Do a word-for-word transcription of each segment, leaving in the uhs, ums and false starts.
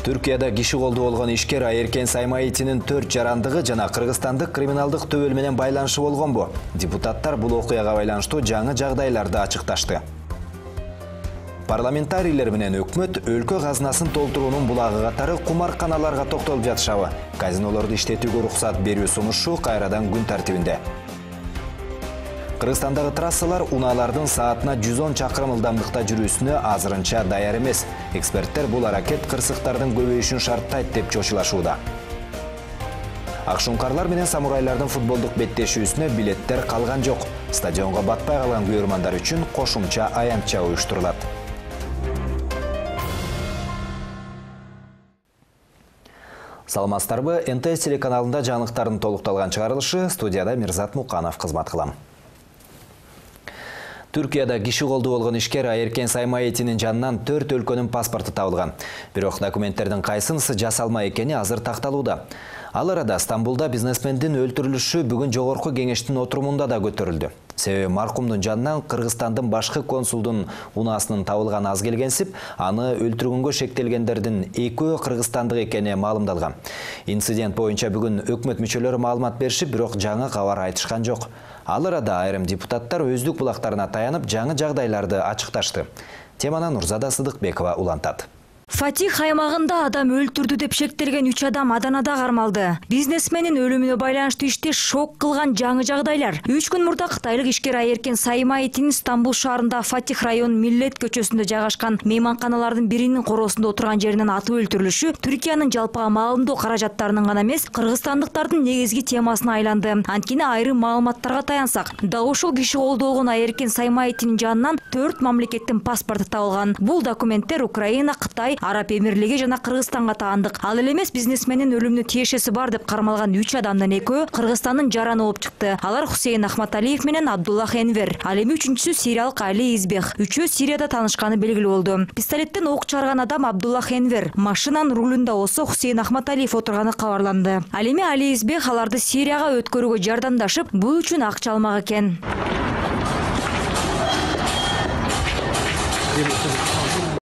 Түркияда киши колду болгон ишкер Айеркен Саймаитинин төрт жарандыгы жана кыргызстандык криминалдык төбөл менен байланышы болгонбу? Депутаттар бул окуяга байланыштуу жаңы жагдайларды ачыкташты. Парламентарийлер менен өкмөт өлкө казынасын толтуруунун булагы катары кумарканаларга токтолуп жатышабы? Казинолорду иштетүүгө уруксат берүү сунушу кайрадан күн тартибинде. Кыргызстандагы трассалар унаалардын саатына жүз он чакырым ылдамдыкта жүрүүсүнө азырынча даяр эмес. Эксперттер бул аракет кырсыктардын көбөйүшүн шарттайт деп чочулашууда. Акшумкарлар менен самурайлардын футболдук беттешүүсүнө билеттер калган жок. Стадионго батпай калган күйөрмандар үчүн кошумча аянтча уюштурулат. Саламатсыздарбы? эн тэ эс телеканалында жаңылыктардын толукталган чыгарылышы, студияда Мирзат Муканов кызмат кылам. Түркияда киши колду болгон ишкер Айеркен Саймаитинин жанынан төрт өлкөнүн паспорту табылган. Бирок документтердин кайсынысы жасалма экени азыр такталууда. Ал арада Стамбулда бизнесмендин өлтүрүлүшү бүгүн жогорку кеңештин отурумунда да көтөрүлдү. Себеби маркумдун жанынан Кыргызстандын башкы консулдун унаасынын табылганы аз келгенсип, аны өлтүргөнгө шектелгендердин экөө кыргызстандык экени маалымдалган. Инцидент боюнча бүгүн өкмөт мүчөлөрү маалымат беришип, бирок жаңы кабар айтышкан жок. Ал арада айрым депутаттар өздүк булактарына таянып жаңы жагдайларды ачыкташты. Теманы Нурзада Сыдыкбекова улантат. Фатих аймагында адам өлтүрдү деп шектелген үч адам Аданада кармалды. Бизнесменин өлүмүнө байланыштуу иште шок кылган жаңы жагдайлар. үч күн мурда кытайлык ишкер Айеркен Саймаитин Стамбул шаарында Фатих район Миллет көчөсүндө жайгашкан мейманканалардын биринин короосунда отурган жеринен атып өлтүрүлүшү Түркиянын жалпыга маалымдоо каражаттарынын гана эмес, кыргызстандыктардын негизги темасына айланды. Анткени айрым маалыматтарга таянсак, дал ушул киши колду болгон Айеркен Саймаитинин жанынан төрт мамлекеттин паспорту табылган. Бул документтер Украина, Кытай, Араб Эмирлиги жана Кыргызстанга таандык. Ал эле эмес, бизнесменин өлүмүнө тиешеси бар деп кармалган үч адамдын экөө Кыргызстандын жараны болуп чыкты. Алар Хусейн Ахматалиев менен Абдуллах Энвер. Ал эми үчүнчүсү сириялык Али Избех. Үчөө Сирияда таанышканы белгилүү болду. Пистолеттен ок чыгарган адам Абдуллах Энвер. Машинанын рулунда болсо Хусейн Ахматалиев отурганы кабарланды. Ал эми Али Избех аларды Сирияга өткөрүүгө жардамдашып, бул үчүн акча алмак экен.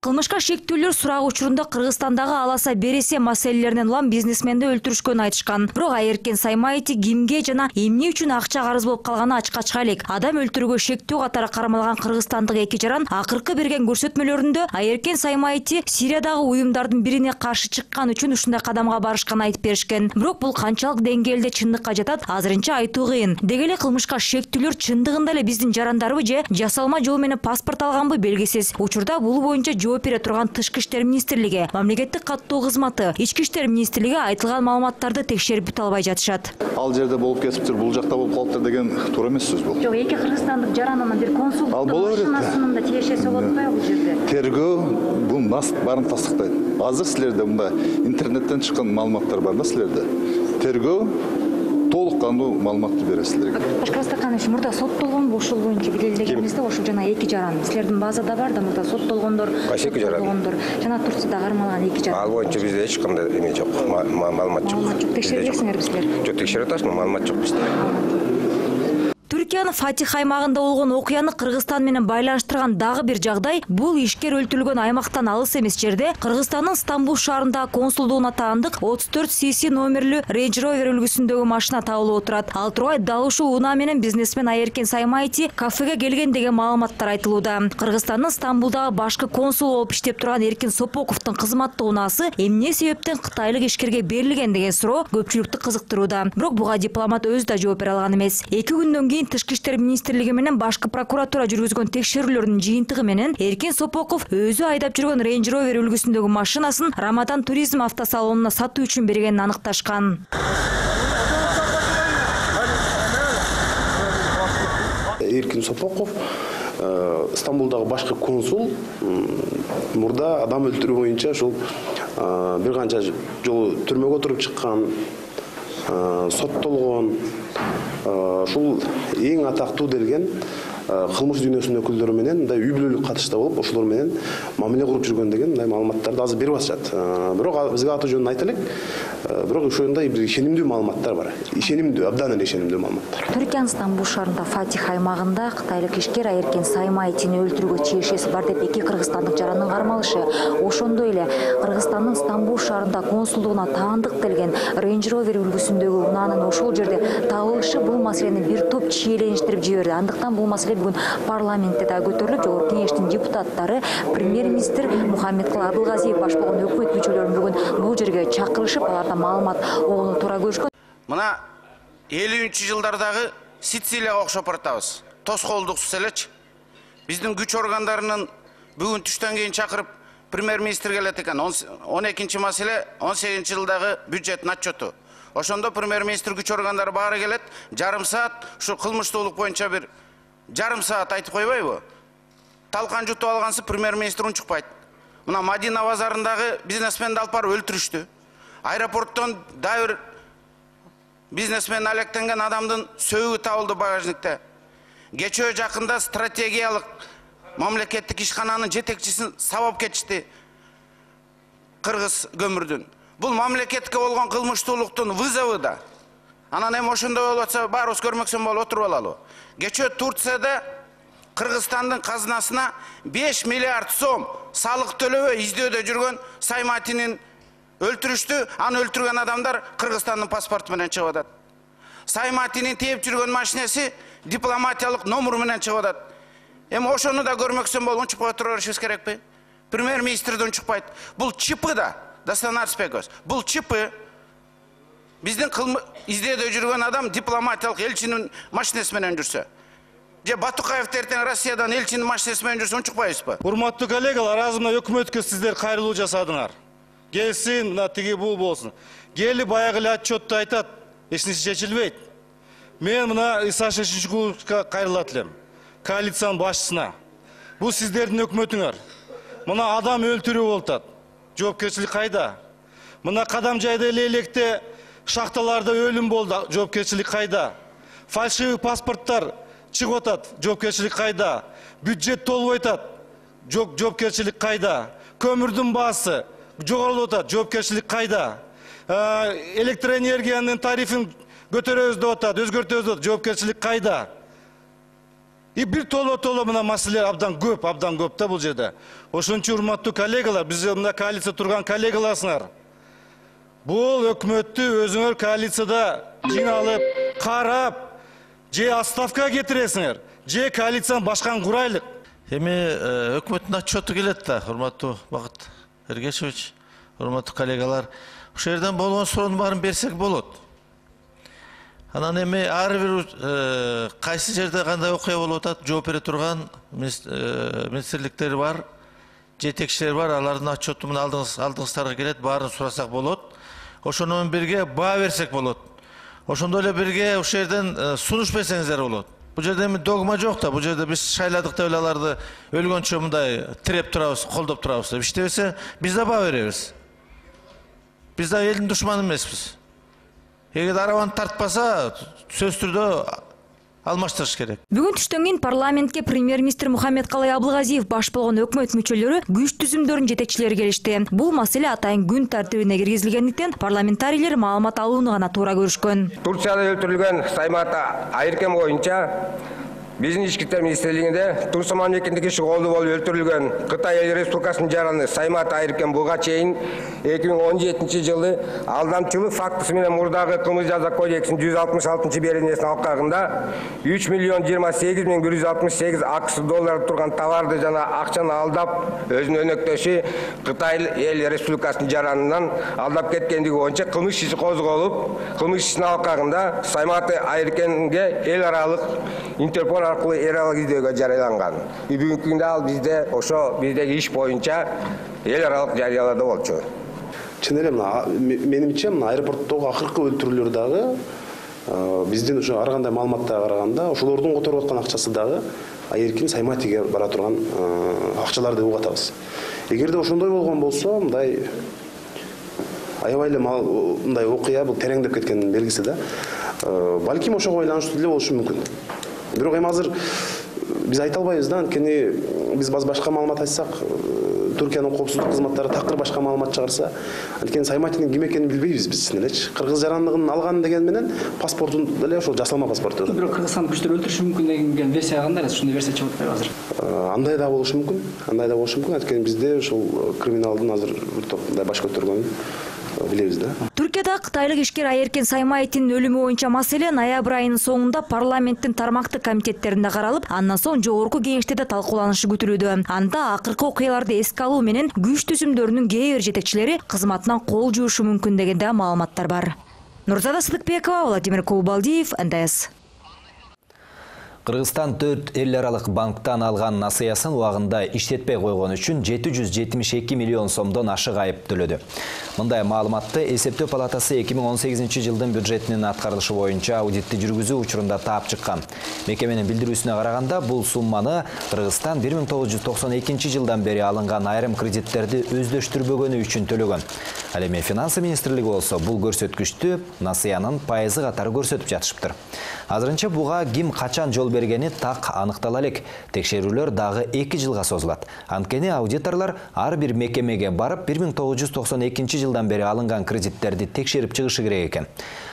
Кылмышка шектүүлөр сурак учурунда Кыргызстандагы аласа бересе маселелеринен улам бизнесменди өлтүрүшкөнү айтышкан. Бирок Айеркен Саймаити кимге жана эмне үчүн акча карыз болуп калганы ачыкка чыга элек. Адам өлтүрүүгө шектүү катары кармалган кыргызстандык эки жаран акыркы берген көрсөтмөлөрүндө Айеркен Саймаити Сириядагы уюмдардын бирине каршы чыккан үчүн ушундай кадамга барышканын айтып беришкен. Бирок бул канчалык деңгээлде чындыкка жатат, азырынча айтуу кыйын. Деги эле кылмышка шектүүлөр чындыгында эле биздин жарандарбы же жасалма жол менен паспорт алганбы белгисиз. Учурда бул боюнча жооп бере турган Тышкы иштер министрлиги, мамлекеттик каттоо кызматы, Ички иштер министрлиги айтылган маалыматтарды текшерип бүтө албай жатышат. Ал жерде болуп кетиптир, бул жакта болуп калыптыр деген туура эмес сөз бул. Жок, эки кыргызстандык жарананын бир консулдук машинасынын да тиешеси болуп атпайбы бул жерде? Тергөө бул нас барын тастыктайт. Азыр силерде мында интернеттен чыккан маалыматтар бар да силерде. Тергөө толук кандуу маалыматты берет силерге. Башкырстаканович, мурда соттолгонбу ушул боюнча билдиргенибизде, ошол жана эки жаран. Силердин базада бар да, мурда соттолгондор, соттолгондор жана Турцияда кармалган эки жаран. Ал боюнча бизде эч кандай эме жок, маалымат жок. Маалымат жок. Текшербейсиңерби силер? Жок, текшерип атабыз, маалымат жок бизде. Түркиянын Фатих аймагында болгон окуяны Кыргызстан менен байланыштырган дагы бир жагдай, бул ишкер өлтүрүлгөн аймактан алыс эмес жерде Кыргызстандын Стамбул шаарындагы консулдугуна таандык отуз төрт си си номерлүү Range Rover үлгүсүндөгү машина табылып отурат. Ал тургай дал ушул унаа менен бизнесмен Айеркен Саймаити кафеге келген деген маалыматтар айтылууда. Кыргызстандын Стамбулдагы башкы консул болуп иштеп турган Эркин Сопоковдун кызматтуу унаасы эмне себептен кытайлык ишкерге берилген деген суроо көпчүлүктү кызыктырууда. Бирок буга дипломат өзү да жооп бере алган эмес. эки күндөн кийин Тышкы иштер министрлиги менен башкы прокуратура жүргүзгөн текшерүүлөрдүн жыйынтыгы менен Эркин Сопоков өзү айдап жүргөн Range Rover үлгүсүндөгү машинасын Рамадан туризм автосалонуна сатуу үчүн бергенин аныкташкан. Эркин Сопоков Стамбулдагы башкы консул мурда адам өлтүрүү боюнча ушул бир канча жолу түрмөгө туруп чыккан, соттолгон. Ушул эң атактуу делген кылмыш дүйнөсүнүн өкүлдөрү менен мындай үй бүлөлүк катышта болуп, ошолор менен мамиле куруп жүргөн деген мындай маалыматтарды азыр берип атышат. Бирок бизге аты жөнүн айта элек. Бирок ошондой бир ишенимдүү маалыматтар бар. Ишенимдүү, абдан эле ишенимдүү маалыматтар. Түркиянын Стамбул шаарында Фатих аймагында кытайлык ишкер Айеркен Саймаевдин өлтүрүүгө чиешеси бар деп эки кыргызстандык жарандын кармалышы. Ошондой эле Кыргызстандын Стамбул шаарында консулдугуна таандык келген Range Rover үлгүсүндөгү унаанын ошол жерде табылышы бул маселени бир топ чиелеништирип жиберди. Андыктан бул маселе бүгүн парламентте да көтөрүлүп, жогорку кеңештин депутаттары премьер-министр Мухаммедкалый Абылгазиев баш болгон өкмөт мүчөлөрүн бүгүн бул жерге чакырышып, алардан маалымат алууну туура көрүшкөн. Мына элүүнчү жылдардагы Сицилияга окшоп баратабыз. Тоскоолдуксуз элечи. Биздин күч органдарынын бүгүн түштөн кийин чакырып премьер-министр келет экен. он экинчи маселе он сегизинчи жылдагы бюджеттин отчету. Ошондо премьер-министр күч органдары баары келет, жарым саат ушу кылмыштуулук боюнча бир жарым саат айтып койбойбу? Талкан жутуп алгансы премьер-министр унчукпайт. Мына Мадина базарындагы бизнесменди алып барып өлтүрүштү. Аэропорттон дагы бир бизнесмен алектенген адамдын сөөгү табылды багажникте. Кечөө жакында стратегиялык мамлекеттик ишкананын жетекчисин сабап кетишти Кыргыз көмүрдүн. Бул мамлекетке болгон кылмыштуулуктун вызову да. Анан эми ошондой болуп атса баарыбыз көрмөксөн болуп отуруп алалы. Кечөө Турцияда Кыргызстандын казынасына беш миллиард сом салык төлөбөй издөөдө жүргөн Сайматинин өлтүрүштү. Аны өлтүргөн адамдар Кыргызстандын паспорту менен чыгып атат. Сайматинин тээп жүргөн машинеси дипломатиялык номер менен чыгып атат. Эми ошону да көрмөксөн болуп унчукпай отура беришибиз керекпи? Премьер-министр да унчукпайт. Бул чипы да, Дастан Арыспеков. Бул чипы биздин издөөдө жүргөн адам дипломатиялык элчинин машинеси менен жүрсө. Же Батукаев эртең Россиядан элчинин машинеси менен жүрсө унчукпайбызбы? Урматтуу коллегалар, азыр мына өкмөткө сиздер кайрылуу жасадыңар. Келсин, мына тиги бул болсун. Кели баягы эле отчетто айтат, эч нерсе чечилбейт. Мен мына Иса Шешинчуковго кайрылат элем. Коалициянын башчысына. Бул сиздердин өкмөтүңөр. Мына адам өлтүрүү болуп атат. Жоопкерчилик кайда? Мына Кадамжайда эле электе шахталарда өлүм болду. Жоопкерчилик кайда? Фальшивый паспорттар чыгып атат. Жоопкерчилик кайда? Бюджет толбой атат. Жоопкерчилик кайда? Көмүрдүн баасы жогорулуп атат. Жоопкерчилик кайда? Электроэнергиянын тарифин көтөрөбүз деп атат, өзгөртөбүз деп атат. Жоопкерчилик кайда? И бир толо-толо мына маселелер абдан көп, абдан көп да бул жерде. Ошон үчүн урматтуу коллегалар, биз мына коалиция турган коллегаларсыңар. Бул өкмөттү өзүңөр коалицияда жиналып, карап, же отставкага кетиресиңер, же коалицияны башканы курайлык. Эми өкмөттүн отчету келет да, урматтуу Бакыт Эргешевич, урматтуу коллегалар. Ошол жерден болгон суроонун баарын берсек болот. Анан эми ар бир кайсы жерде кандай окуя болуп атат, жооп бере турган министрликтер бар, жетекчилер бар, алардын отчету мына алдыңыздарга келет, баарын сурасак болот. Ошону менен бирге баа берсек болот. Ошондой эле бирге ошол жерден сунуш берсеңиздер болот. Бул жерде эми догма жок да, бул жерде биз шайладык деп эле аларды өлгөнчө мындай тиреп турабыз, колдоп турабыз деп иштебесе, биз да баа беребиз. Биз да элдин душманы эмеспиз. Эгер арабаны тартпаса, сөз түрдө алмаштырыш керек. Бүгүн түштөн кийин парламентке премьер-министр Мухаммедкалый Абылгазиев баш болгон өкмөт мүчөлөрү күч түзүмдөрүнүн жетекчилери келишти. Бул маселе атайын күн тартибине киргизилгендиктен парламентарийлер маалымат алууну гана туура көрүшкөн. Турцияда өлтүрүлгөн Саймат Айеркен боюнча биздин ички иштер министрлигинде Турция мамлекетинин иши колду болуп өлтүрүлгөн Кытай Эл Республикасынын жараны Саймат Айеркен буга чейин эки миң он жетинчи жылы алдамчылык фактысы менен мурдагы кылмыш жаза кодексинин жүз алтымыш алтынчы беренесине алкагында үч миллион жыйырма сегиз миң бир жүз алтымыш сегиз акш доллары турган товарды жана акчаны алдап өзүнүн өнөктөшү Кытай Эл Республикасынын жаранынан алдап кеткендиги боюнча кылмыш иши козголуп, кылмыш ишинин алкагында Саймат Айеркенге эл аралык Интерпол аркылуу эл аралык издөөгө жарыяланган. Бүгүнкү күндө ал бизде ошо биздеги иш боюнча эл аралык жарыялоодо болчу. Чын эле мына менимче мына аэропорттогу акыркы өлтүрүүлөр дагы биздин ошо ар кандай маалыматтарга караганда ошолордун которуп аткан акчасы дагы Айеркен Сайматиге бара турган акчалар деп угуп атабыз. Эгерде ошондой болгон болсо, мындай аябай эле мындай окуя бул тереңдеп кеткендин белгиси да. Балким ошого байланыштуу эле болушу мүмкүн. Бирок эми азыр биз айта албайбыз да, анткени биз башка маалымат айтсак, Түркиянын коопсуздук кызматтары такыр башка маалымат чыгарса, анткени Сайматинин ким экенин билбейбиз биз элечи. Кыргыз жарандыгын алган деген менен паспортун деле ошол жасалма паспорт. Бирок Кыргызстан күчтөр өлтүрүшү мүмкүн деген версия кандай? Ушундай версия чыгып атпайбы азыр? Андай да болушу мүмкүн. Андай да болушу мүмкүн. Анткени бизде ошол криминалдын азыр бир топ мындай баш көтөргөнүн билебиз да. Түркияда кытайлык ишкер Айеркен Саймаевдин өлүмү боюнча маселе ноябрь айынын соңунда парламенттин тармактык комитеттеринде каралып, андан соң жогорку кеңеште да талкууланышы күтүлүүдө. Анда акыркы окуяларды эске алуу менен күч түзүмдөрүнүн кээ бир жетекчилери кызматынан кол жуушу мүмкүн деген да маалыматтар бар. Нурзада Сыдыкбекова, Владимир Кубалдиев, Н Д С. Кыргызстан төрт эл аралык банктан алган насыясын убагында иштетпей койгон үчүн жети жүз жетимиш эки миллион сомдон ашык айып төлөдү. Мындай маалыматты эсептөө палатасы эки миң он сегизинчи жылдын бюджетинин аткарылышы боюнча аудитти жүргүзүү учурунда таап чыккан. Мекеменин билдирүүсүнө караганда, бул сумманы Кыргызстан бир миң тогуз жүз токсон экинчи жылдан бери алынган айрым кредиттерди өздөштүрбөгөнү үчүн төлөгөн. Ал эми Финансы министрлиги болсо бул көрсөткүчтү насыянын пайызы катары көрсөтүп жатышыптыр. Азырынча буга ким качан жол бергени так аныктала элек. Текшерүүлөр дагы эки жылга созулат. Анткени аудиторлор ар бир мекемеге барып бир миң тогуз жүз токсон экинчи жылдан бери алынган кредиттерди текшерип чыгышы керек экен.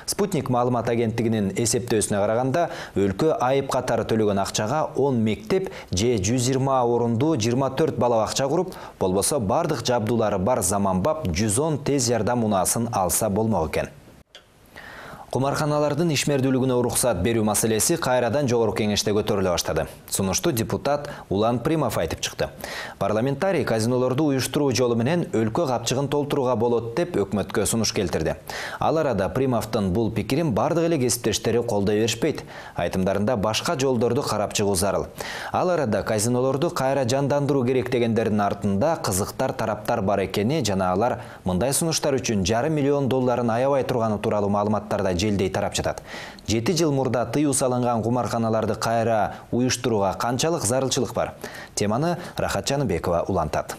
Спутник маалымат агенттигинин эсептөөсүнө караганда, өлкө айып катары төлөгөн акчага он мектеп же жүз жыйырма орундуу жыйырма төрт бала бакча куруп, болбосо бардык жабдуулары бар заманбап жүз он тез жардам унаасын алса болмок экен. Кумарканалардын ишмердүүлүгүнө уруксат берүү маселеси кайрадан жогорку кеңеште көтөрүлө баштады. Сунушту депутат Улан Примов айтып чыкты. Парламентарий казинолорду уюштуруу жолу менен өлкө капчыгын толтурууга болот деп өкмөткө сунуш келтирди. Ал арада Примовдун бул пикирин бардык эле кесиптештери колдой беришпейт. Айтымдарында башка жолдорду карап чыгуу зарыл. Ал арада казинолорду кайра жандандыруу керек дегендердин артында кызыктар тараптар бар экени жана алар мындай сунуштар үчүн жарым миллион долларын аябай турганы тууралуу маалыматтарда желдей тарап жатат. жети жыл мурда тыюу салынган кумарканаларды кайра уюштурууга канчалык зарылчылык бар? Теманы Рахат Жаныбекова улантат.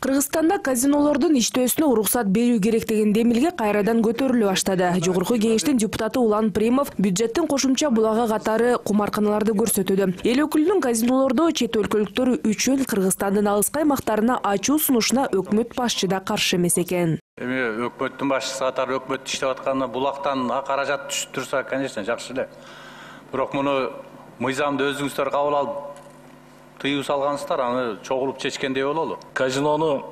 Кыргызстанда казинолордун иштөөсүнө уруксат берүү керек деген демилге кайрадан көтөрүлө баштады. Жогорку кеңештин депутаты Улан Примов бюджеттин кошумча булагы катары кумарканаларды көрсөтүүдө. Эл өкүлүнүн казинолордо чет өлкөлүктөр үчүн Кыргызстандын алыскы аймактарына ачуу сунушуна өкмөт башчы да каршы эмес экен. Эми өкмөттүн башчысы катары өкмөт иштеп атканда булактан каражат түшүп турса, конечно, жакшы эле. Бирок муну мыйзамды өзүңүздөр кабыл алып тыюу салгансыздар, аны чогулуп чечкендей бололу. Казинону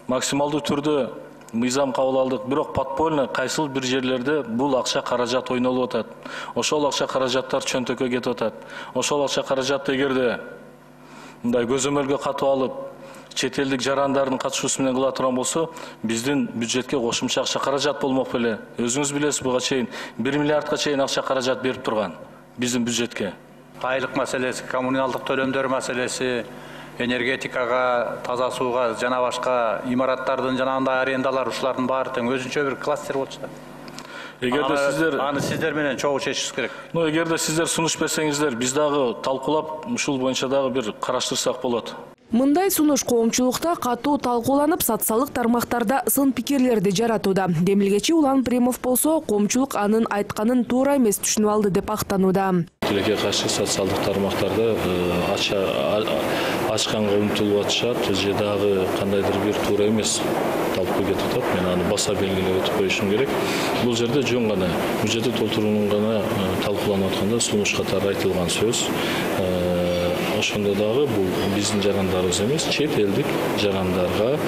максималдуу түрдө мыйзам кабыл алдык, бирок подпольно кайсыл бир жерлерде бул акча каражат ойнолуп атат. Ошол акча каражаттар чөнтөккө кетип атат. Ошол акча каражатты эгерде мындай көзөмөлгө катып алып, чет элдик жарандардын катышуусу менен кыла турган болсо, биздин бюджетке кошумча акча каражат болмок беле. Өзүңүз билесиз, буга чейин бир миллиардка чейин акча каражат берип турган биздин бюджетке. Айлык маселеси, коммуналдык төлөмдөр маселеси, энергетикага, таза сууга жана башка имараттардын жана андай арендалар, ушулардын баары тең өзүнчө бир кластер болчу да. Эгерде сиздер аны сиздер менен чогуу чечишиңиз керек. Ну, эгерде сиздер сунуш берсеңиздер, биз дагы талкуулап, ушул боюнча дагы бир караштырсак болот. Мындай сунуш коомчулукта катуу талкууланып, социалдык тармактарда сын пикирлерди жаратууда. Демилгечи Улан Примов болсо, коомчулук анын айтканын туура эмес түшүнүп алды деп актанууда. Тилекке каршы социалдык тармактарда ачканга умтулуп атышат, же дагы кандайдыр бир туура эмес талкуу кетип атат. Мен аны баса белгилеп өтүп коюшум керек. Бул жерде жөн гана бюджетти толтуруунун гана талкууланып атканда сунуш катары айтылган сөз. Ошондо дагы бул биздин жарандарыбыз эмес, чет элдик жарандарга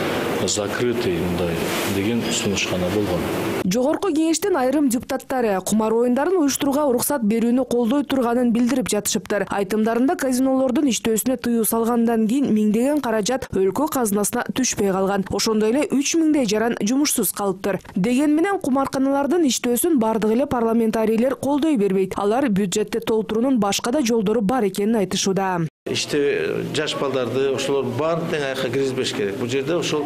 закрытый мындай деген сунуш гана болгон. Жогорку кеңештин айрым депутаттары кумар оюндарын уюштурууга уруксат берүүнү колдой турганын билдирип жатышыптыр. Айтымдарында казинолордун иштөөсүнө тыюу салгандан кийин миңдеген каражат өлкө казынасына түшпөй калган. Ошондой эле үч миңдей жаран жумушсуз калыптыр. Деген менен кумарканалардын иштөөсүн бардык эле парламентарийлер колдой бербейт. Алар бюджетти толтуруунун башка да жолдору бар экенин айтышууда. Иште жаш балдарды ошолор баарын тең аякка киргизбеш керек. Бул жерде ошол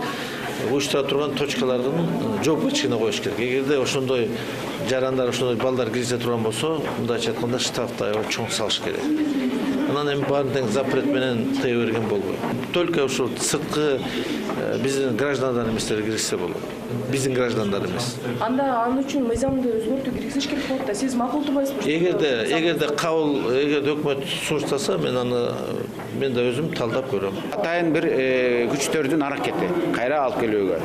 уюштура турган точкалардын жоопкечигине коюш керек. Эгерде ошондой жарандар, ошондой балдар киргизе турган болсо, мындайча айтканда штрафты аябай чоң салыш керек. анан эми баарын тең запрет менен тыя берген болбойт. Только ушул сырткы биздин граждандар эместер киришсе болот. Биздин граждандар эмес. Анда анын үчүн мыйзамды өзгөртүү киргизиш керек болот да. Сиз макулдабайсызбы? Эгерде эгерде кабыл эгерде өкмөт сунуштаса, мен аны мен да өзүм талдап көрөм. Атайын бир күчтөрдүн аракети кайра алып келүүгө.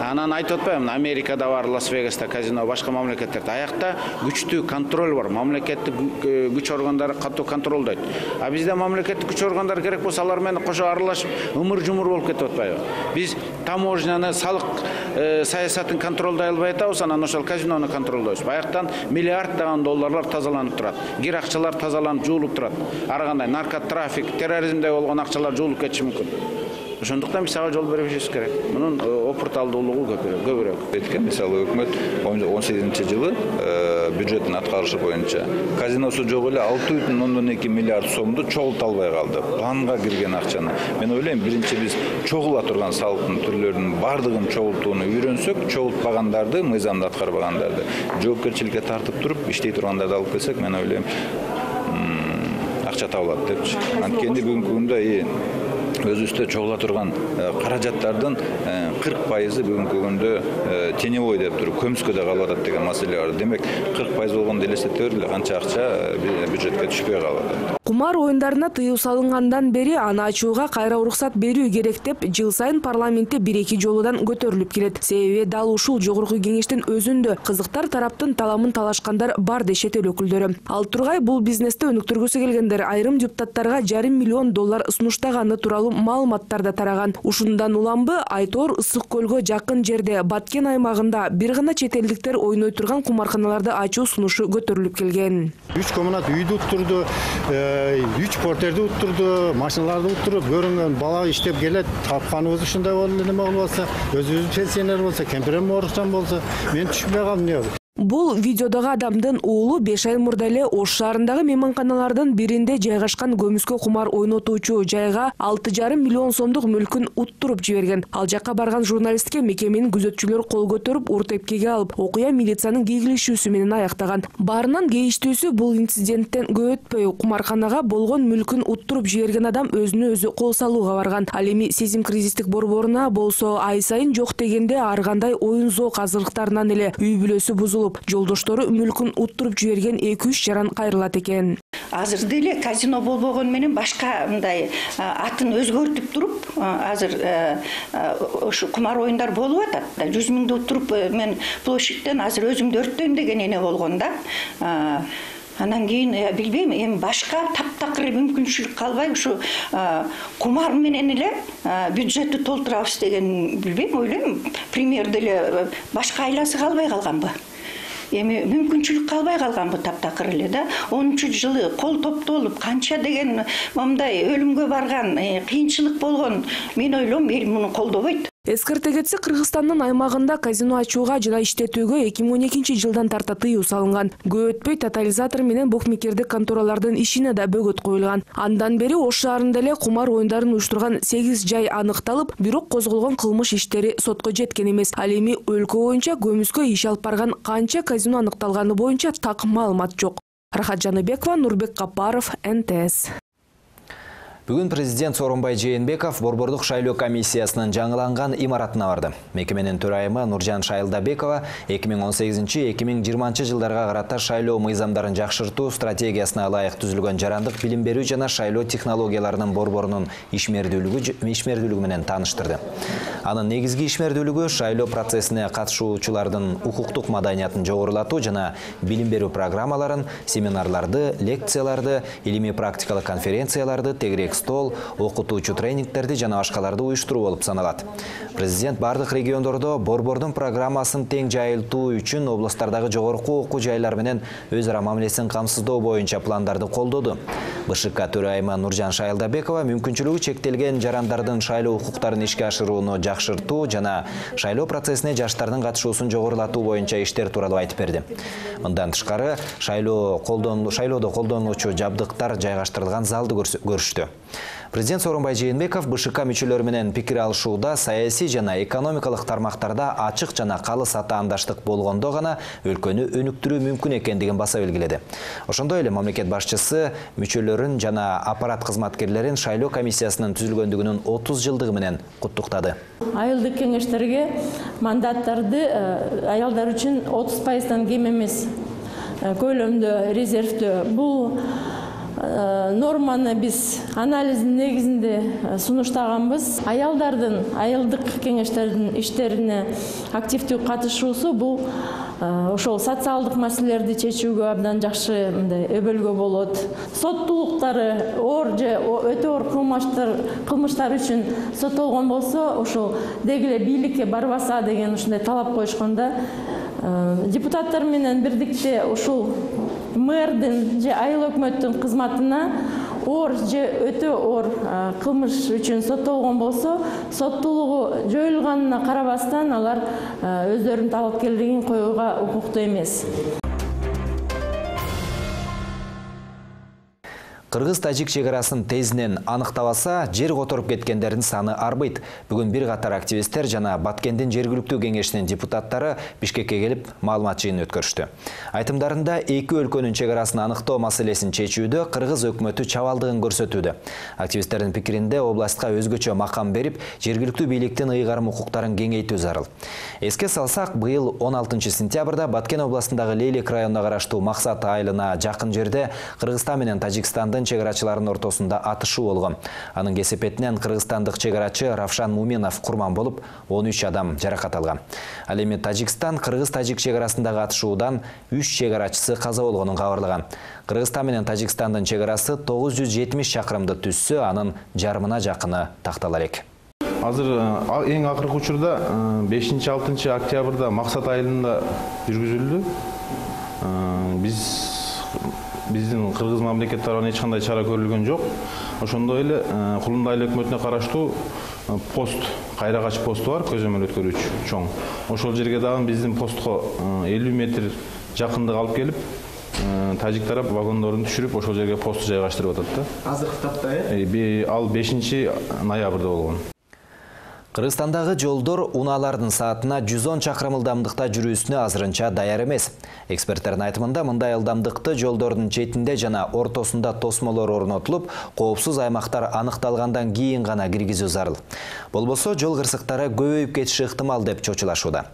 Анан айтып атпаймынбы, Америкада бар, Лас-Вегаста казино, башка мамлекеттерде аякта күчтүү контроль бар. Мамлекеттик күч органдары катуу контролдойт. А бизде мамлекеттик күч органдары керек болсо алар менен кошо аралашып ымыр-жумур болуп кетип атпайбы? Биз таможняны, салык саясатын контролдой албай атабыз, анан ошол казинону контролдойбуз. Баяктан миллиарддаган долларлар тазаланып турат. Кир акчалар тазаланып жуулуп турат. Ар кандай наркотрафик, терроризмде болгон акчалар жуулуп кетиши мүмкүн. Ошондуктан биз ага жол бербешибиз керек. Мунун опурталдуулугу көбүрөөк. Эткен мисалы өкмөт он сегизинчи жылы бюджеттин аткарышы боюнча казиносу жок эле алты бүтүн ондон эки миллиард сомду чогулта албай калды. Планга кирген акчаны. Мен ойлойм, биринчи биз чогула турган салыктын түрлөрүнүн бардыгын чогултууну үйрөнсөк, чогултпагандарды, мыйзамды аткарбагандарды жоопкерчиликке тартып туруп, иштей тургандарды алып келсек, мен ойлойм, акча табылат депчи. Анткени бүгүнкү күндө өзүбүздө чогула турган каражаттардын кырк пайызы бүгүнкү күндө теневой деп туруп көмүскөдө калып атат деген маселе бар. Демек кырк пайыз болгондо элестете бергиле, канча акча бюджетке түшпөй калып атат. Кумар оюндарына тыюу салынгандан бери аны ачууга кайра уруксат берүү керек деп жыл сайын парламентте бир-эки жолудан көтөрүлүп келет. Себеби дал ушул жогорку кеңештин өзүндө кызыктар тараптын таламын талашкандар бар дешет эл өкүлдөрү. Ал тургай бул бизнести өнүктүргүсү келгендер айрым депутаттарга жарым миллион доллар сунуштаганы тууралуу маалыматтар да тараган. Ушундан уламбы Айтор ысык көлгө жакын жерде Баткен аймагында бир гана чет элдиктер ойной турган кумарканаларды ачуу сунушу көтөрүлүп келген. Үч коммунат үйдү уттурду, үч портерди уттурду, машиналарды уттуруп, көрүнгөн бала иштеп келет, тапканыбыз ушундай болду эле болбосо, өзүбүз пенсионер болсо, кемпирем оорукчан болсо, мен түшүнбөй калдым. Бул видеодогу адамдын уулу беш ай мурда эле Ош шаарындагы мейманканалардын биринде жайгашкан көмүскө кумар ойнотуучу жайга алты жарым миллион сомдук мүлкүн уттуруп жиберген. Ал жакка барган журналистке мекеменин күзөтчүлөрү кол көтөрүп, урт эпкеге алып, окуя милициянын кегилишүүсү менен аяктаган. Баарынан кейиштүүсү бул инциденттен көп өтпөй кумарканага болгон мүлкүн уттуруп жиберген адам өзүнө өзү кол салууга барган. Ал эми сезим кризистик борборуна болсо ай сайын жок дегенде ар кандай оюн зоок азырлыктарынан эле үй бүлөсү бузулуп, жолдоштору мүлкүн уттуруп жиберген эки үч жаран кайрылат экен. Азыр деле казино болбогон менен башка мындай атын өзгөртүп туруп, азыр ошо кумар оюндар болуп атат. жүз миңди уттуруп мен площадьтен азыр өзүмдү өрттөйм деген эне болгон да. Анан кийин билбейм, эми башка таптакыр мүмкүнчүлүк калбай ушу кумар менен эле бюджетти толтурабыз деген билбейм, ойлойм, пример деле башка айласы калбай калганбы? Эми мүмкүнчүлүк калбай калганбы таптакыр эле да. онунчу жылы кол топтолуп канча деген мындай өлүмгө барган, кыйынчылык болгон, мен ойлойм, эл муну колдобойт. Эскерте кетсе, Кыргызстандын аймагында казино ачууга жана иштетүүгө эки миң он экинчи жылдан тарта тыюу салынган. Көп өтпөй тотализатор менен букмекердик конторалардын ишине да бөгөт коюлган. Андан бери Ош шаарында эле кумар оюндарын уюштурган сегиз жай аныкталып, бирок козголгон кылмыш иштери сотко жеткен эмес. Ал эми өлкө боюнча көмүскө иш алып барган канча казино аныкталганы боюнча так маалымат жок. Рахат Жаныбекова, Нурбек Капаров, эн тэ эс. Бүгүн президент Сооронбай Жээнбеков борбордук шайлоо комиссиясынын жаңыланган имаратына барды. Мекеменин төрайымы Нуржан Шайлдабекова эки миң он сегизинчи — эки миң жыйырманчы жылдарга карата шайлоо мыйзамдарын жакшыртуу стратегиясына ылайык түзүлгөн жарандык билим берүү жана шайлоо технологияларынын борборунун ишмердүүлүгү ишмердүүлүгү менен тааныштырды. Анын негизги ишмердүүлүгү шайлоо процессине катышуучулардын укуктук маданиятын жогорулатуу жана билим берүү программаларын, семинарларды, лекцияларды, илимий практикалык конференцияларды, тегерек стол, окутуучу тренингтерди жана башкаларды уюштуруу болуп саналат. Президент бардык региондордо борбордун программасын тең жайылтуу үчүн областтардагы жогорку окуу жайлар менен өз ара мамилесин камсыздоо боюнча пландарды колдоду. бэ шэ ка төрайымы Нуржан Шайлдабекова мүмкүнчүлүгү чектелген жарандардын шайлоо укуктарын ишке ашырууну жакшыртуу жана шайлоо процессине жаштардын катышуусун жогорулатуу боюнча иштер тууралуу айтып берди. Мындан тышкары шайлоо колдон шайлоодо колдонулуучу жабдыктар жайгаштырылган залды көрүштү. Президент Сооронбай Жээнбеков БШК мүчөлөрү менен пикир алышууда саясий жана экономикалык тармактарда ачык жана калыс атаандаштык болгондо гана өлкөнү өнүктүрүү мүмкүн экендигин баса белгиледи. Ошондой эле мамлекет башчысы мүчөлөрүн жана аппарат кызматкерлерин шайлоо комиссиясынын түзүлгөндүгүнүн отуз жылдыгы менен куттуктады. Айылдык кеңештерге мандаттарды аялдар үчүн отуз пайыздан кем эмес көлөмдө резервдөө. Бул норманы биз анализдин негизинде сунуштаганбыз. Аялдардын айылдык кеңештердин иштерине активдүү катышуусу бул ошол социалдык маселелерди чечүүгө абдан жакшы мындай өбөлгө болот. Соттуулуктары оор же өтө оор кылмыштар кылмыштар үчүн соттолгон болсо, ошол деги эле бийликке барбаса деген ушундай талап коюшканда, депутаттар менен бирдикте ушул мэрдин же айыл өкмөттүн кызматына оор же өтө оор кылмыш үчүн соттолгон болсо, соттуулугу жоюлганына карабастан алар өздөрүнүн талапкерлигин коюуга укуктуу эмес. Кыргыз-тажик чегарасын тезинен аныктабаса, жер которуп кеткендердин саны арбыйт. Бүгүн бир катар активисттер жана Баткендин жергиликтүү кеңешинин депутаттары Бишкекке келип маалымат жыйынын өткөрүштү. Айтымдарында эки өлкөнүн чегарасын аныктоо маселесин чечүүдө Кыргыз өкмөтү чабалдыгын көрсөтүүдө. Активисттердин пикиринде областка өзгөчө макам берип, жергиликтүү бийликтин ыйгарым укуктарын кеңейтүү зарыл. Эске салсак, быйыл он алтынчы сентябрда Баткен областындагы Лейлек районуна караштуу Максат айылына жакын жерде Кыргызстан менен Тажикстандын чегарачыларынын ортосунда атышуу болгон. Анын кесепетинен кыргызстандык чегарачы Равшан Муменов курман болуп, он үч адам жаракат алган. Ал эми Тажикстан Кыргыз-Тажик чегарасындагы атышуудан үч чегарачысы каза болгонун кабарлаган. Кыргызстан менен Тажикстандын чегарасы тогуз жүз жетимиш чакырымды түзсө, анын жарымына жакыны тактала элек. Азыр эң акыркы учурда бешинчи алтынчы октябрда Максат айылында жүргүзүлдү. Биз биздин кыргыз мамлекет тарабынан эч кандай чара көрүлгөн жок. Ошондой эле Кулундай айыл өкмөтүнө караштуу пост, кайрагач посту бар, көзөмөл өткөрүүчү чоң. Ошол жерге дагы биздин постко элүү метр жакындык алып келип, тажик тарап вагондорун түшүрүп, ошол жерге посту жайгаштырып атат да. Азыркы тапта э? Ал бешинчи ноябрда болгон. Кыргызстандагы жолдор унаалардын саатына жүз он чакырым ылдамдыкта жүрүүсүнө азырынча даяр эмес. Эксперттердин айтымында мындай ылдамдыкты жолдордун четинде жана ортосунда тосмолор орнотулуп, коопсуз аймактар аныкталгандан кийин гана киргизүү зарыл. Болбосо жол кырсыктары көбөйүп кетиши ыктымал деп чочулашууда.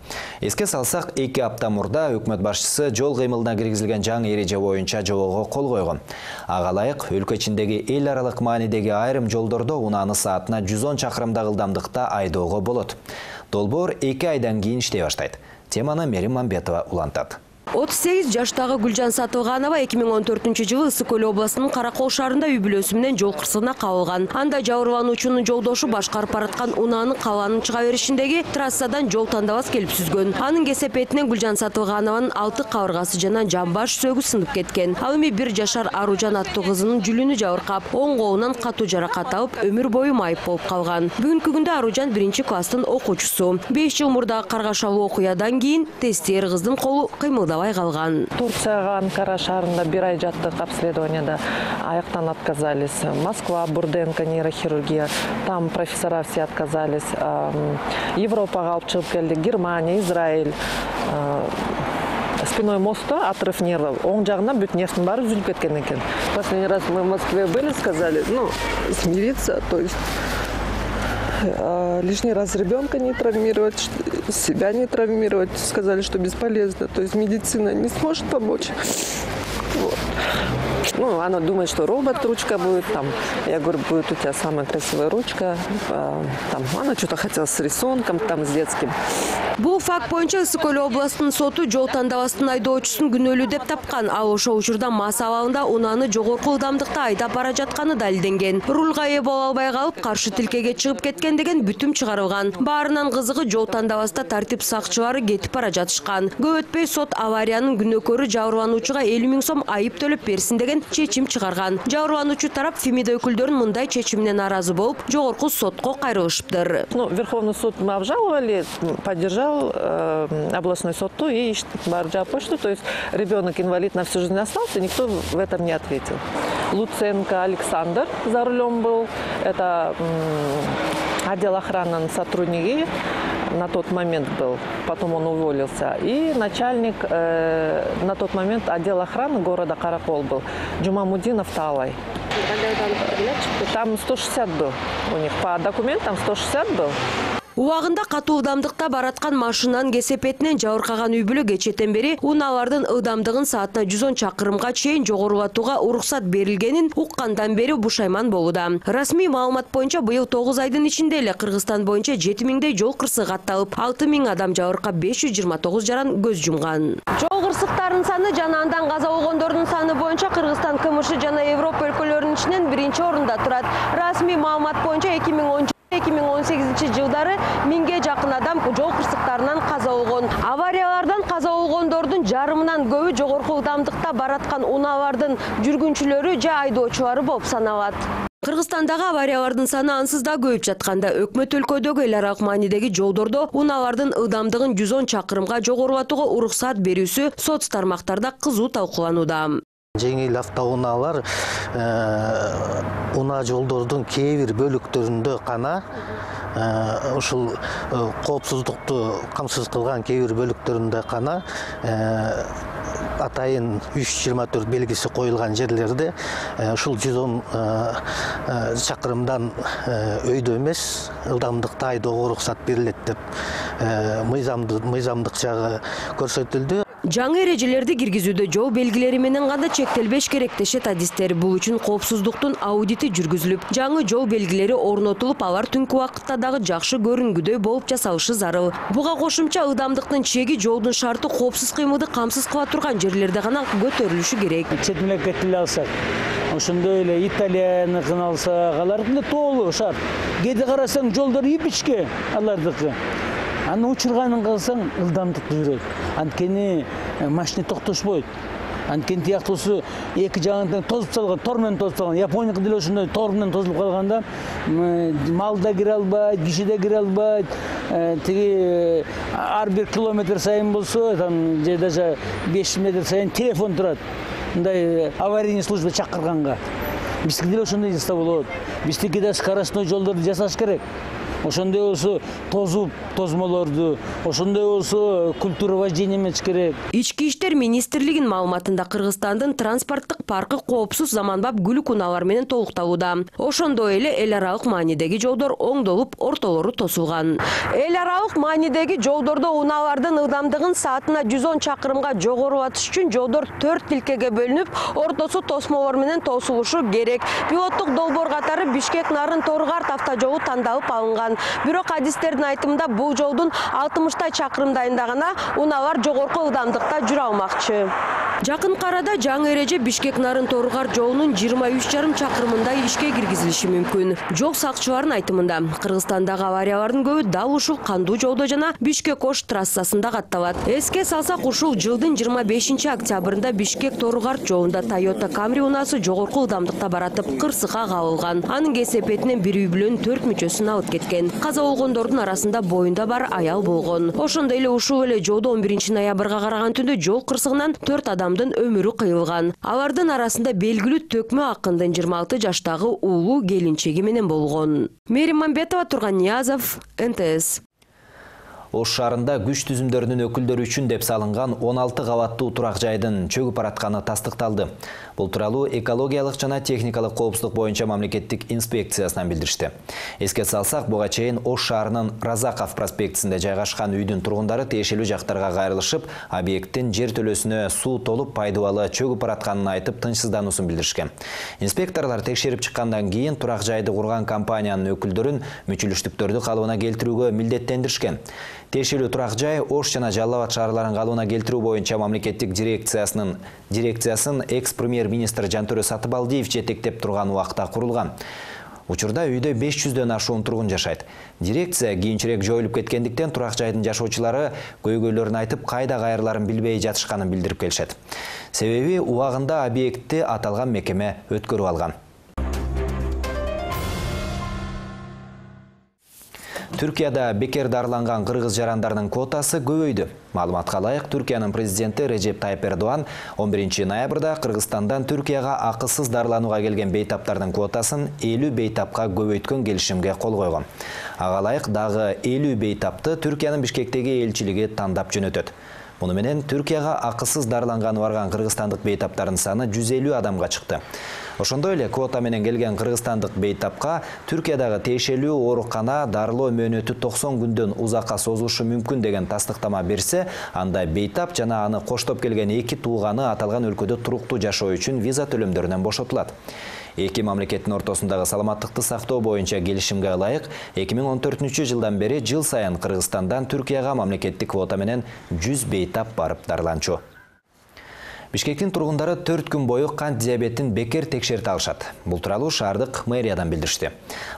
Эске салсак, эки апта мурда өкмөт башчысы жол кыймылына киргизилген жаңы эреже боюнча жобого кол койгон. Ага ылайык өлкө ичиндеги эл аралык маанидеги айрым жолдордо унааны саатына жүз он чакырымдагы ылдамдыкта айдоого болот. Долбоор эки айдан кийин иштей баштайт. Теманы Мерим Мамбетова улантат. отуз сегиз жаштагы Гүлжан Сатылганова эки миң он төртүнчү жылы Ысык Көл областынын Каракол шаарында үй бүлөсү менен жол кырсыгына кабылган. Анда жабырлануучунун жолдошу башкарып бараткан унааны калаанын чыга беришиндеги трассадан жол тандабас келип сүзгөн. Анын кесепетинен Гүлжан Сатылганованын алты кабыргасы жана жамбаш сөөгү сынып кеткен. Ал эми бир жашар Аружан аттуу кызынын жүлүнү жабыркап, оң колунан катуу жаракат алып, өмүр бою майып болуп калган. Бүгүнкү күндө Аружан биринчи класстын окуучусу. беш жыл мурдагы каргашалуу окуядан кийин тестиер кыздын колу кыймылдабай калган. Турцияга, Анкара шаарында бир ай жаттык обследованияда, аяктан отказались. Москва, Бурденко, нейрохирургия, там профессора все отказались. Европага алып чыгып келдик, Германия, Израиль. Спиной моста отрыв нервов. Оң жагынан бүт нервтин баары үзүлүп кеткен экен. Последний раз мы в Москве были, сказали, ну, смириться, то есть лишний раз ребенка не травмировать, себя не травмировать. Сказали, что бесполезно. То есть медицина не сможет помочь. Вот. Ну, она думает, что робот-ручка будет. Там, я говорю, будет у тебя самая красивая ручка. Там, она что-то хотела с рисунком, там, с детским. Бул факт боюнча Ысык Көл областынын соту жол тандабастын айдоочусун күнөөлүү деп тапкан. Ал ошол учурда мас абалында унааны жогорку ылдамдыкта айдап бара жатканы далилденген. Рулга ээ боло албай калып, каршы тилкеге чыгып кеткен деген бүтүм чыгарылган. Баарынан кызыгы жол тандабаста тартип сакчылары кетип бара жатышкан. Көп өтпөй сот авариянын күнөөкөрү жабырлануучуга элүү миң сом айып төлөп берсин деген чечим чыгарган. Жабырлануучу тарап Фемида өкүлдөрүн мындай чечимине нааразы болуп, жогорку сотко кайрылышыптыр. Ну, Верховный суд мы обжаловали, поддержал э, областной суду и барды жаап коюшту. То есть ребенок инвалид на всю жизнь остался, никто в этом не ответил. Луценко Александр за рулем был. Это отдел охраны сотрудники на тот момент был, потом он уволился. И начальник э, на тот момент отдела охраны города Каракол был, Джумамудинов Талай. Там сто шестьдесят был у них, по документам сто шестьдесят был. Убагында катуу ылдамдыкта бараткан машинанын кесепетинен жабыркаган үй бүлө кечээден бери унаалардын ылдамдыгын саатына жүз он чакырымга чейин жогорулатууга уруксат берилгенин уккандан бери бушайман болууда. Расмий маалымат боюнча быйыл тогуз айдын ичинде эле Кыргызстан боюнча жети миңдей жол кырсыгы катталып, алты миң адам жабыркап, беш жүз жыйырма тогуз жаран көз жумган. Жол кырсыктарынын саны жана андан каза болгондордун саны боюнча Кыргызстан КМШ жана Европа өлкөлөрүнүн ичинен биринчи орунда турат. Расмий маалымат боюнча эки миң он эки миң он сегизинчи жылдары миңге жакын адам жол кырсыктарынан каза болгон. Авариялардан каза болгондордун жарымынан көбү жогорку ылдамдыкта бараткан унаалардын жүргүнчүлөрү же айдоочулары болуп саналат. Кыргызстандагы авариялардын саны ансыз да көбөйүп жатканда, өкмөт өлкөдөгү эл аралык маанидеги жолдордо унаалардын ылдамдыгын жүз он чакырымга жогорулатууга уруксат берүүсү соц тармактарда кызуу талкууланууда. Жеңил автоунаалар унаа жолдордун кээ бир бөлүктөрүндө гана ушул коопсуздукту камсыз кылган кээ бир бөлүктөрүндө гана атайын үч жүз жыйырма төрт белгиси коюлган жерлерде ушул жүз он чакырымдан өйдө эмес ылдамдыкта айдоого уруксат берилет деп мыйзамдык жагы көрсөтүлдү. Жаңы эрежелерди киргизүүдө жол белгилери менен гана чектелбеш керек дешет адистер. Бул үчүн коопсуздуктун аудити жүргүзүлүп, жаңы жол белгилери орнотулуп, алар түнкү убакытта дагы жакшы көрүнгүдөй болуп жасалышы зарыл. Буга кошумча ылдамдыктын чеги жолдун шарты коопсуз кыймылды камсыз кыла турган жерлерде гана көтөрүлүшү керек. Чет мамлекетти алсак, ошондой эле Италияныкын алсак, алардын толугу шарт. Кээде карасаң жолдор ипичке алардыкы. Аны учурганын кылсаң ылдамдыкты жүрөт. Анткени машина токтошпойт. Анткени тияктуусу эки жагынан тозуп салган, тор менен тозуп салган. Япониякы деле ошондой тор менен тозулуп калганда мал да кире албайт, киши да кире албайт. Тиги ар бир километр сайын болсо, там же даже беш метр сайын телефон турат. Мындай аварийный служба чакырганга. Биздики деле ошондой жасаса болот. Биздики да скоростной жолдорду жасаш керек. Ошондой болсо тозуп тозмолорду, ошондой болсо культура вождения эмес керек. Ички иштер министрлигинин маалыматында Кыргызстандын транспорттук паркы коопсуз заманбап күлүк унаалар менен толукталууда. Ошондой эле эл аралык маанидеги жолдор оңдолуп, ортолору тосулган. Эл аралык маанидеги жолдордо унаалардын ылдамдыгын саатына жүз он чакырымга жогорулатыш үчүн жолдор төрт тилкеге бөлүнүп, ортосу тосмолор менен тосулушу керек. Пилоттук долбоор катары Бишкек Нарын Торгарт автожолу тандалып алынган. Бирок адистердин айтымында бул жолдун алтымыштай чакырымдайында гана унаалар жогорку ылдамдыкта жүрө алмакчы. Жакын арада жаңы эреже Бишкек Нарын Торгарт жолунун жыйырма үч жарым чакырымында ишке киргизилиши мүмкүн. Жол сакчыларынын айтымында Кыргызстандагы авариялардын көбү дал ушул кандуу жолдо жана Бишкек-Ош трассасында катталат. Эске салсак, ушул жылдын жыйырма бешинчи октябрында Бишкек Торгарт жолунда Toyota Camry унаасы жогорку ылдамдыкта баратып кырсыкка кабылган. Анын кесепетинен бир үй бүлөнүн төрт мүчөсүн алып кеткен. Каза болгондордун арасында боюнда бар аял болгон. Ошондой эле ушул эле жолдо он биринчи ноябрга караган түндө жол кырсыгынан төрт адамдын өмүрү кыйылган. Алардын арасында белгилүү Төкмө Акындын жыйырма алты жаштагы уулу келинчеги менен болгон. Мерим Мамбетова, Турган Ниязов, эн тэ эс. Ош шаарында күч түзүмдөрүнүн өкүлдөрү үчүн деп салынган он алты кабаттуу турак жайдын чөгүп баратканы тастыкталды. Бул тууралуу экологиялык жана техникалык коопсуздук боюнча мамлекеттик инспекциясынан билдиришти. Эске салсак, буга чейин Ош шаарынын Разаков проспектисинде жайгашкан үйдүн тургундары тиешелүү жактарга кайрылышып, объекттин жер төлөсүнө суу толуп пайдубалы чөгүп баратканын айтып тынчсыздануусун билдиришкен. Инспекторлор текшерип чыккандан кийин турак жайды курган компаниянын өкүлдөрүн мүчүлүштүктөрдү калыбына келтирүүгө милдеттендиришкен. Тиешелүү турак жай Ош жана Жалал Абад шаарларын калыбына келтирүү боюнча мамлекеттик дирекциясынын дирекциясын экс-премьер-министр Жантөрө Сатыбалдиев жетектеп турган убакта курулган. Учурда үйдө беш жүздөн ашуун тургун жашайт. Дирекция кийинчерээк жоюлуп кеткендиктен турак жайдын жашоочулары көйгөйлөрүн айтып, кайда кайрыларын билбей жатышканын билдирип келишет. Себеби убагында объектти аталган мекеме өткөрүп алган. Түркияда бекер дарыланган кыргыз жарандарынын квотасы көбөйдү. Маалыматка ылайык, Түркиянын президенти Режеп Тайып Эрдоган он биринчи ноябрда Кыргызстандан Түркияга акысыз дарыланууга келген бейтаптардын квотасын элүү бейтапка көбөйткөн келишимге кол койгон. Ага ылайык дагы элүү бейтапты Түркиянын Бишкектеги элчилиги тандап жөнөтөт. Муну менен Түркияга акысыз дарыланганы барган кыргызстандык бейтаптардын саны жүз элүү адамга чыкты. Ошондой эле квота менен келген кыргызстандык бейтапка Түркиядагы тиешелүү оорукана дарылоо мөөнөтү токсон күндөн узакка созулушу мүмкүн деген тастыктама берсе, анда бейтап жана аны коштоп келген эки тууганы аталган өлкөдө туруктуу жашоо үчүн виза төлөмдөрүнөн бошотулат. Эки мамлекеттин ортосундагы саламаттыкты сактоо боюнча келишимге ылайык эки миң он төртүнчү жылдан бери жыл сайын Кыргызстандан Түркияга мамлекеттик квота менен жүз бейтап барып дарыланчу. Бишкектин тургундары төрт күн бою кант диабетин бекер текшерте алышат. Бул тууралуу шаардык мэриядан билдиришти.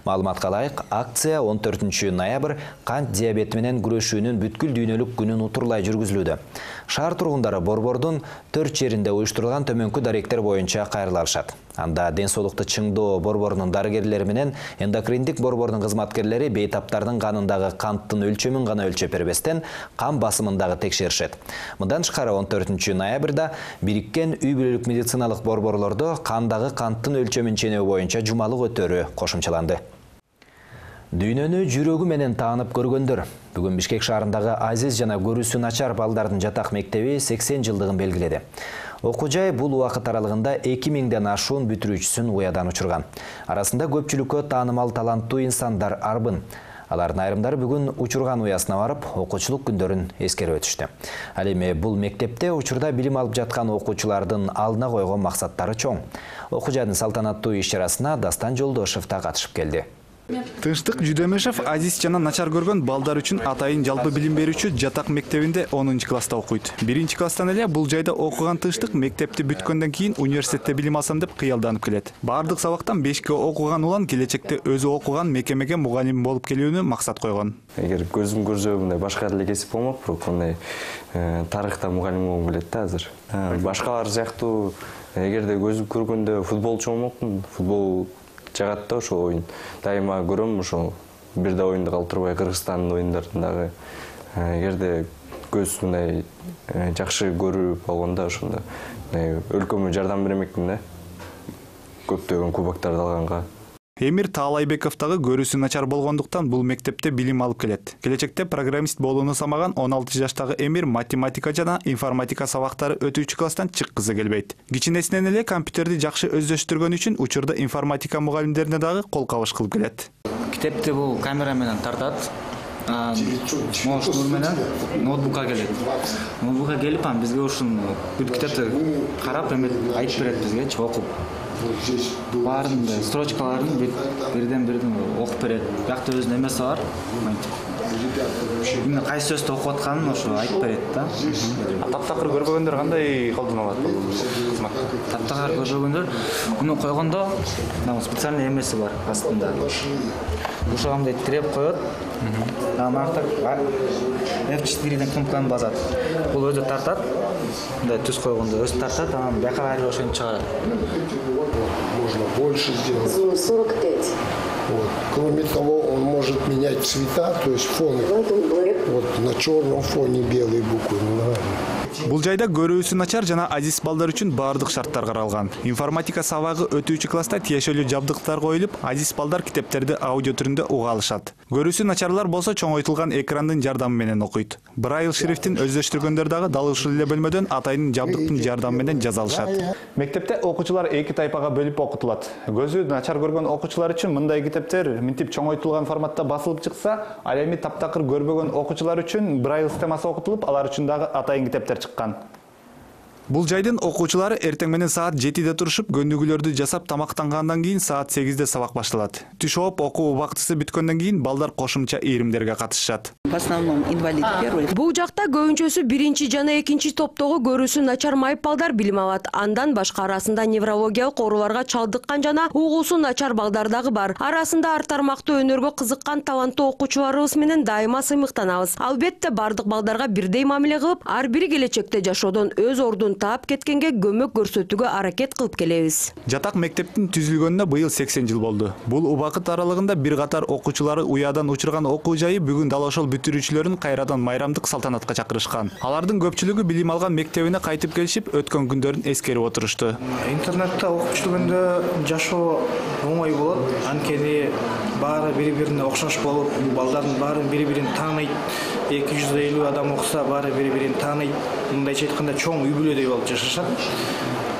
Маалыматка ылайык, акция он төртүнчү ноябрь кант диабети менен күрөшүүнүн бүткүл дүйнөлүк күнүн утурлай жүргүзүлүүдө. Шаар тургундары борбордун төрт жеринде уюштурулган төмөнкү даректер боюнча кайрыла алышат. Анда ден соолукту чыңдоо борборунун дарыгерлери менен эндокриндик борбордун кызматкерлери бейтаптардын канындагы канттын өлчөмүн гана өлчөп бербестен кан басымын дагы текшеришет. Мындан тышкары он төртүнчү ноябрда бириккен үй бүлөлүк медициналык борборлордо кандагы канттын өлчөмүн ченөө боюнча жумалык өтөрү кошумчаланды. Дүйнөнү жүрөгү менен таанып көргөндөр. Бүгүн Бишкек шаарындагы Азиз жана көрүүсү начар балдардын жатак мектеби сексен жылдыгын белгиледи. Окуу жай бул убакыт аралыгында эки миңден ашуун бүтүрүүчүсүн уядан учурган. Арасында көпчүлүккө таанымал таланттуу инсандар арбын. Алардын айрымдары бүгүн учурган уясына барып, окуучулук күндөрүн эскерип өтүштү. Ал эми бул мектепте учурда билим алып жаткан окуучулардын алдына койгон максаттары чоң. Окуу жайдын салтанаттуу иш-чарасына Дастан Жолдошев да катышып келди. Тынчтык Жүдөмешев Азиз жана начар көргөн балдар үчүн атайын жалпы билим берүүчү жатак мектебинде онунчу класста окуйт. биринчи класстан эле бул жайда окуган Тынчтык мектепти бүткөндөн кийин университетте билим алсам деп кыялданып келет. Бардык сабактан бешке окуган улан келечекте өзү окуган мекемеге мугалим болуп келүүнү максат койгон. Эгер көзүм көрсө мындай башка эле кесип болмок, бирок мындай тарыхта мугалим болгум келет да азыр. Башкалар сыяктуу эгерде көзүм көргөндө футболчу болмокмун, футбол жагат да ошо оюн. Дайыма көрөм ошо бир да оюнду калтырбай Кыргызстандын оюндарындагы. Эгерде көз мындай жакшы көрүп алганда ошондо өлкөмө жардам бермекмин да. Көптөгөн кубоктарды алганга. Эмир Таалайбеков дагы көрүүсү начар болгондуктан бул мектепте билим алып келет. Келечекте программист болууну самаган он алты жаштагы Эмир математика жана информатика сабактары өтүүчү класстан чыккысы келбейт. Кичинесинен эле компьютерди жакшы өздөштүргөн үчүн учурда информатика мугалимдерине дагы кол кабыш кылып келет. Китепти бул камера менен тартат. Моштур менен ноутбукка келет. Ноутбукка келип, бизге ушун бүт китепти карап, эме айтып берет бизге, окуп. Баарын строчкаларын бирден бирден окуп берет. Бакта өзүнүн эмеси бар. Эмне кайсы сөздү окуп атканын ошо айтып берет да. Таптакыр көрбөгөндөр кандай колдоно алат бул кызматты? Таптакыр көрбөгөндөр муну койгондо специальный эмеси бар астында. Ушугамды тиреп коет. Намакта эф четырден кнопканы басат. Бул өзү тартат. Мындай түз койгондо өзү тартат, анан бияка кайрып ошону чыгарат. Можно больше сделать. сорок пять. Вот. Кроме того, он может менять цвета, то есть фон. Вот на черном фоне белые буквы. Бул жайда көрүүсү начар жана азиз балдар үчүн баардык шарттар каралган. Информатика сабагы өтүүчү класста тиешелүү жабдыктар коюлуп, азиз балдар китептерди аудио түрүндө уга алышат. Көрүүсү начарлар болсо чоңойтулган экрандын жардамы менен окуйт. Брайль шрифтин өздөштүргөндөр дагы дал ушул эле бөлмөдөн атайын жабдыктын жардамы менен жаза алышат. Мектепте окуучулар эки тайпага бөлүп окутулат. Көзү начар көргөн окуучулар үчүн мындай китептер минтип чоңойтулган форматта басылып чыкса, ал эми таптакыр көрбөгөн окуучулар үчүн брайль системасы окутулуп, алар үчүн дагы атайын китептер чыккан. Бул жайдын окуучулары эртең менен саат жетиде турушуп, көндүгүлөрдү жасап тамактангандан кийин саат сегизде сабак башталат. Түш ооп окуу убактысы бүткөндөн кийин балдар кошумча ийримдерге катышышат. В основном инвалид первый. Бул жакта көбүнчөсү биринчи жана экинчи топтогу көрүүсү начар майыпалдар билим алат. Андан башка арасында неврологиялык ооруларга чалдыккан жана угуусу начар балдар дагы бар. Арасында ар тармактуу өнөргө кызыккан таланттуу окуучуларыбыз менен дайыма сыймыктанабыз. Албетте бардык балдарга бирдей мамиле кылып, ар бири келечекте жашоодон өз ордун таап кеткенге көмөк көрсөтүүгө аракет кылып келебиз. Жатак мектептин түзүлгөнүнө быйыл сексен жыл болду. Бул убакыт аралыгында бир катар окуучулары уядан учурган окуу жайы бүгүн дал ошол бүтүрүүчүлөрүн кайрадан майрамдык салтанатка чакырышкан. Алардын көпчүлүгү билим алган мектебине кайтып келишип, өткөн күндөрүн эскерип отурушту. Интернетте окуп жүргөндө жашоо оңой болот. Анткени баары бири-бирине окшош болуп, балдардын баары бири-бирин тааныйт. эки жүз элүү адам окуса, баары бири-бирин тааныйт. Мындайча айтканда чоң үй бүлөдөй болуп жашашат.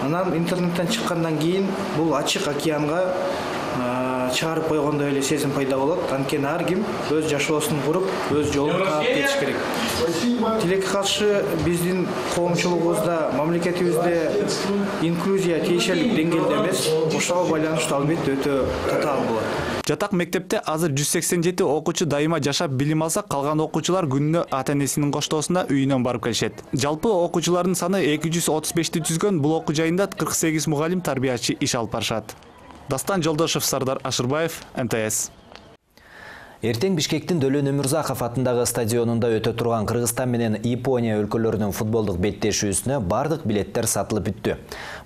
Анан интернеттен чыккандан кийин бул ачык океанга чыгарып койгондой эле сезим пайда болот. Анткени ар ким өз жашоосун куруп, өз жолун таап кетиш керек. Тилекке каршы биздин коомчулугубузда, мамлекетибизде инклюзия тиешелик деңгээлде эмес. Ошого байланыштуу албетте өтө татаал болот. Жатак мектепте азыр жүз сексен жети окуучу дайыма жашап билим алса, калган окуучулар күнүнө ата-энесинин коштоосунда үйүнөн барып келишет. Жалпы окуучулардын саны эки жүз отуз бешти түзгөн бул окуу жайында кырк сегиз мугалим, тарбиячы иш алып барышат. Дастан Жолдошев, Сардар Ашырбаев, Н Т С. Эртең Бишкектин Дөлөн Өмүрзаков атындагы стадионунда өтө турган Кыргызстан менен Япония өлкөлөрүнүн футболдук беттешүүсүнө бардык билеттер сатылып бүттү.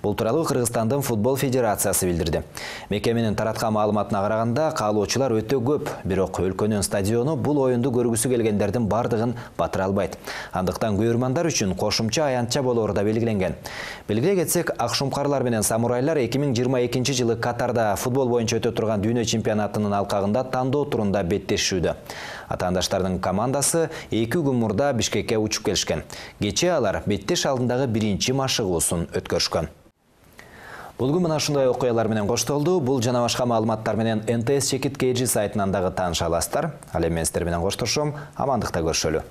Бул тууралуу Кыргызстандын футбол федерациясы билдирди. Мекеменин тараткан маалыматына караганда, каалоочулар өтө көп, бирок өлкөнүн стадиону бул оюнду көргүсү келгендердин бардыгын батыра албайт. Андыктан көрөрмандар үчүн кошумча аянтча болору да белгиленген. Белгилей кетсек, Акшумкарлар менен Самурайлар эки миң жыйырма экинчи жылы Катарда футбол боюнча өтө турган дүйнө чемпионатынын алкагында тандоо турунда беттешүүдө. Атаандаштардын командасы эки күн мурда Бишкекке учуп келишкен. Кечээ алар беттеш алдындагы биринчи машыгуусун өткөрүшкөн. Булгун мына ушундай окуялар менен коштолду. Бул жана башка маалыматтар менен Н Т С Чекит Кей Жи сайтынан дагы тааныша аласыздар. Ал эми мен сиздер менен коштошом. Амандыкта көрүшөлү.